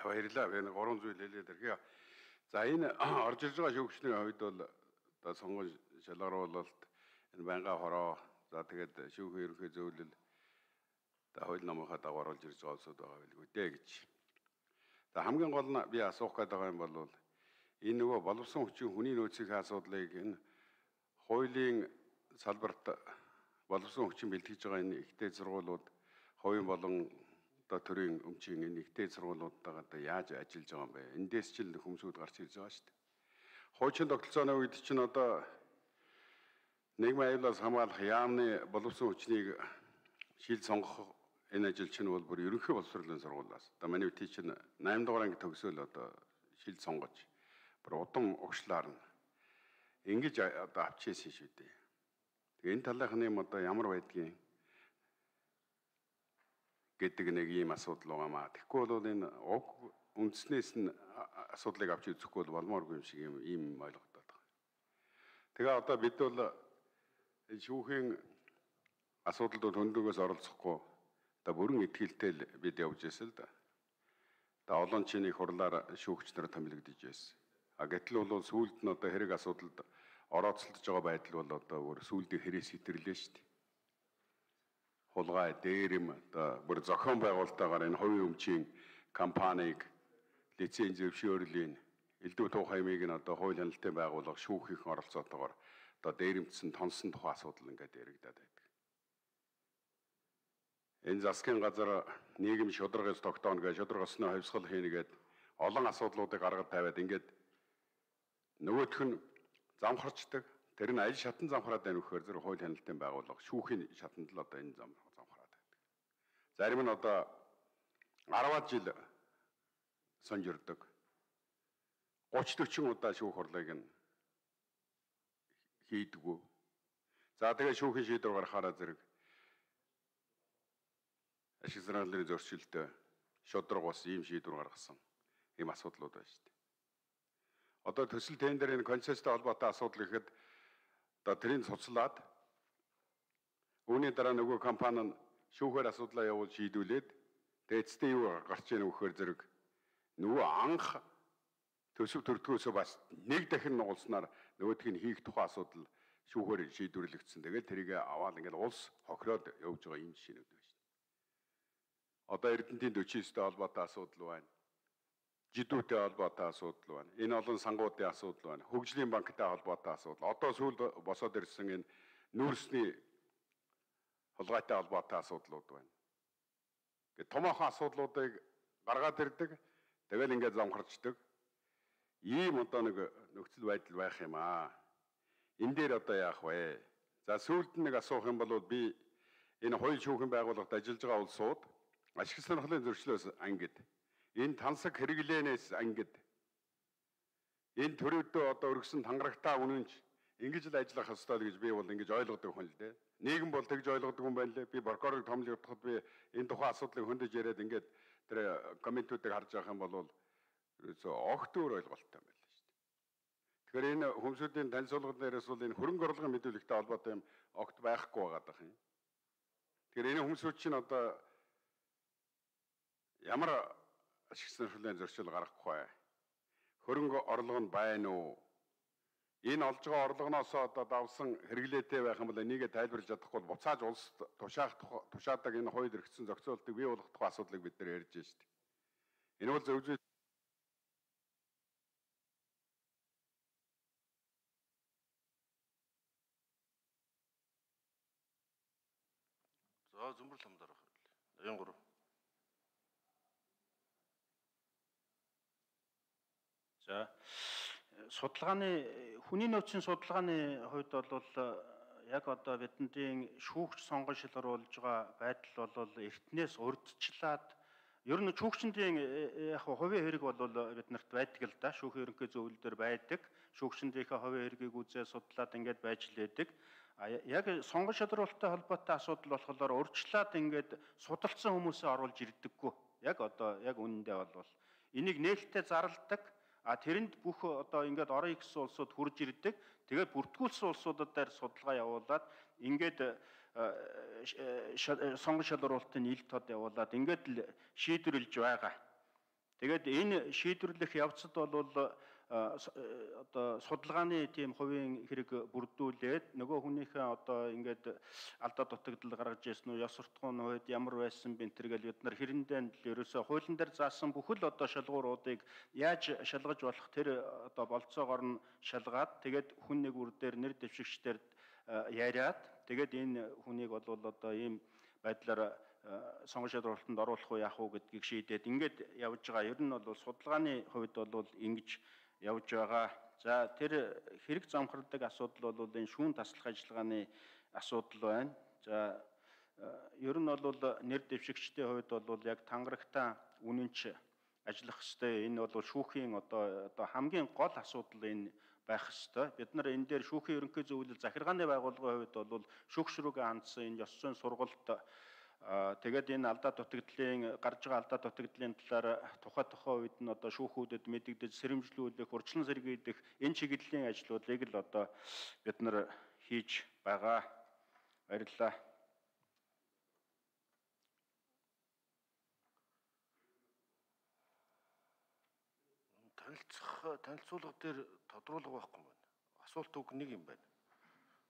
баярлалаа. Би нэг 3 зүйл хэлээд ирэхээ. За энэ орж ирж байгаа шүүгчний хувьд бол одоо сонгон шалгаруулалт энэ байнгын хороо за тэгээд шүүхийн ерөнхий зөвлөл одоо хууль намынхаа дагуу орж ирж байгаа улсууд байгаа билгүй дээ гэж. За хамгийн гол нь би асуух гээд байгаа юм бол энэ нөгөө боловсон хүчин хүний нөөцийн асуудлыг энэ хуулийн салбарт боловсон хүчин бэлтгэж байгаа энэ ихтэй сургуулиуд хувийн болон одоо төрийн өмчийн энэ ихтэй сургуулиудтайгаа одоо яаж ажиллаж байгаа юм бэ? Эндээс ч л хүмүүсүүд гарч ирж байгаа шүү дээ. Хуучин тогтолцооны үед чинь одоо нийгмийн аюулаас хамгаалах яамны боловсон хүчнийг шил сонгох энэ ажил чинь бол бүр ерөнхий боловсролын сургуулиас. Одоо манай үтий чинь 8 дугаар анги төгсөөл одоо шил сонгож бүр удам өгшлаар нь ингэж одоо авчихсан шүү дээ. Тэгээ энэ талынхны юм одоо ямар байдгийг гэдэг нэг ийм асуудал байгаамаа. Тэгэхгүй бол энэ уг үндснээс нь асуудлыг авч үзэхгүй бол болмооргүй юм шиг ийм ойлгогдоод байгаа. Тэгээ одоо бид бол шүүхийн асуудалд хөндөгөөс оролцохгүй одоо бүрэн итгэлтэй л бид явж байсан л да. Одоо олон чиний хурлаар шүүгч нар томилогдож байсан. А гэтэл бол сүүлд нь одоо хэрэг асуудалд орооцолдож байгаа байдал бол одоо бүр сүүлдээ хэрэг сэтэрлээ шүү дээ. Хулгай, дээрэм одоо бүр зохион байгуулалтаагаар энэ хувийн өмчийн компанийг лиценз зөвшөөрлийн элдв туу хаймыг нь одоо хууль хяналтын байгууллага шүүхийн оролцоотойгоор одоо дээрэмдсэн тонсон тухай асуудал ингээд яригадаад байдаг. Энэ засгийн газар нийгэм шударгаас тогтооно гэж шударгасны хавьсгал хийнэ гэд олон асуудлуудыг гаргаж тавиад ингээд нөгөөх нь замхарчдаг. Тэр нь аль шатан замхраад байна вэхээр зэрэг хууль хяналтын байгууллага шүүхийн шатанд л одоо энэ замхраад байдаг. Зарим нь одоо 10-аад жил сонжирдог. 30-40 удаа шүүх хурлыг нь хийдгүү. За тэгээ шүүхийн шийдвэр гаргахаараа зэрэг ашиг санааллын зөрчилтэй шудраг бас ийм шийдвэр гаргасан ийм асуудлууд байна шүү дээ. Одоо төсөл тендерийн концесстэй холбоотой асуудал гэхэд одоо тэрийг цуцлаад үүний дараа нөгөө компани нь шүүхээр асуудлаа явуул шийдүүлээд тэгээд эцэстээ юу гарч ийн вэхээр зэрэг нөгөө анх төсөв төрдгөөсөө бас нэг дахин нугалснаар нөгөөдг нь хийх тухай асуудал шүүхээр шийдвэрлэгдсэн. Тэгээд тэрийг аваад ингээд улс хохироод явж байгаа юм жишээнүүд байна шүү дээ. Одоо Эрдэнэтийн 49-тэй холбоотой асуудал байна. Жидүүтэй холбоотой асуудал байна. Энэ олон сангуудын асуудал байна. Хөгжлийн банктай холбоотой асуудал. Одоо сүүлд босоод ирсэн энэ нүүрсний хулгайтай холбоотой асуудлууд байна. Гэт томоохон асуудлуудыг гаргаад ирдэг. Тэгэл ингээд замхарчдаг. Ийм одоо нэг нөхцөл байдал байх юм аа. Энэ дээр одоо яах вэ? За сүүлд нэг асуух юм бол би энэ хууль шүүхийн байгууллагад ажиллаж байгаа улсууд ашиг сонирхлын зөрчлөөс ангид энэ тансаг хэрэглээнээс ангид энэ төрөөдөө одоо өргөсөн тангарагтаа үнэнч ингэж л ажиллах ёстой л гэж би бол ингэж ойлгодог хүн л дээ. Нийгэм бол тэгж ойлгодог юм байна лээ. Би прокурорыг томлогдоход би энэ тухайн асуудлыг хөндөж яриад ингээд тэр комментүүдийг харж байгаа юм бол ерөөсөө огт өөр ойлголттой юм байна л шүү дээ. Тэгэхээр энэ хүмүүсийн танилцуулгад нэрээс бол энэ хөрөнгө оруулалтын мэдүүлэгтэй холбоотой юм огт байхгүй байгаад байгаа юм. Тэгэхээр энэ хүмүүсүүд чинь одоо ямар ашиг сонирхлын зөрчил гаргахгүй бай. Хөрөнгө орлого нь байна уу? Энэ олж байгаа орлогоноос одоо давсан хэрэглээтэй байх юм бол энийгээ тайлбарлаж чадахгүй бол буцааж улс тушаадаг энэ хууль эрхцэн зохицуултыг бий болгох тухай асуудлыг бид нар ярьж байна шүү дээ. Энэ бол зөв зүйл. За зөмбөр лам дараах хэл. 93. За судалгааны хүний нөөцийн судалгааны хувьд бол яг одоо бидний шүүгч сонгон шилруулж байгаа байдал бол эртнээс урьдчилаад ер нь шүүгчдийн яг хувийн хэрэг бол биднэрт байдаг л да. Шүүхийн ерөнхий зөвлөл дээр байдаг. Шүүгчдийнхээ хувийн хэргийг үзээ судлаад ингээд байж лээдэг. Яг сонгон шилруулалттай холбоотой асуудал болохоор урьдчилаад ингээд судалсан хүмүүсээ оруулж ирдэггүй. Яг одоо яг үнэндээ бол энийг нээлттэй зарладаг. Тэрэнд бүх одоо ингээд орон ихсэн улсууд хурж ирдэг. Тэгээд бүртгүүлсэн улсуудад дээр судалгаа явуулаад ингээд сонгон шалруулалтын нийлт тод явуулаад ингээд л шийдвэрлэж байгаа. Тэгээд энэ шийдвэрлэх явцад бол одоо судалгааны тийм хувийн хэрэг бүрдүүлээд нөгөө хүнийхээ одоо ингээд алдаа дутагдал гаргаж ирсэн үү, ёс суртахууны хувьд ямар байсан бэ энэ гэл бид нар хэрэндээ л ерөөсөө хуулийн дээр заасан бүхэл одоо шалгууруудыг яаж шалгаж болох тэр одоо болцоогоор нь шалгаад тэгээд хүн нэг үр дээр нэр дэвшигчдээр яриад тэгээд энэ хүнийг бол одоо ийм байдлаар сонгон шалгуулалтанд оруулах уу яах уу гэдгийг шийдээд ингээд явж байгаа. Ер нь бол судалгааны хувьд бол ингэж явж байгаа. За тэр хэрэг замхардаг асуудал бол энэ шүүн таслах ажиллагааны асуудал байна. За ер нь бол нэр дэвшигчдийн хувьд бол яг тангарагтаа үнэнч ажиллах ёстой. Энэ бол шүүхийн одоо хамгийн гол асуудал энэ байх ёстой. Бид нар энэ дээр шүүхийн ерөнхий зөвлөл захиргааны байгууллагын хувьд бол шүүгчрүүгээ хандсан энэ ёс зүйн сургалт тэгээд энэ алдаа дутагдлын гарч байгаа алдаа дутагдлын талаар тухай үед нь одоо шүүхүүдэд мэдэгдэж сэрэмжлүүлэх, урьдчилан сэргийлэх энэ чиглэлийн ажлуудыг л одоо бид нар хийж байгаа. Баярлалаа. Танилцуулга дээр тодруулга байхгүй юм байна. Асуулт үг нэг юм байна.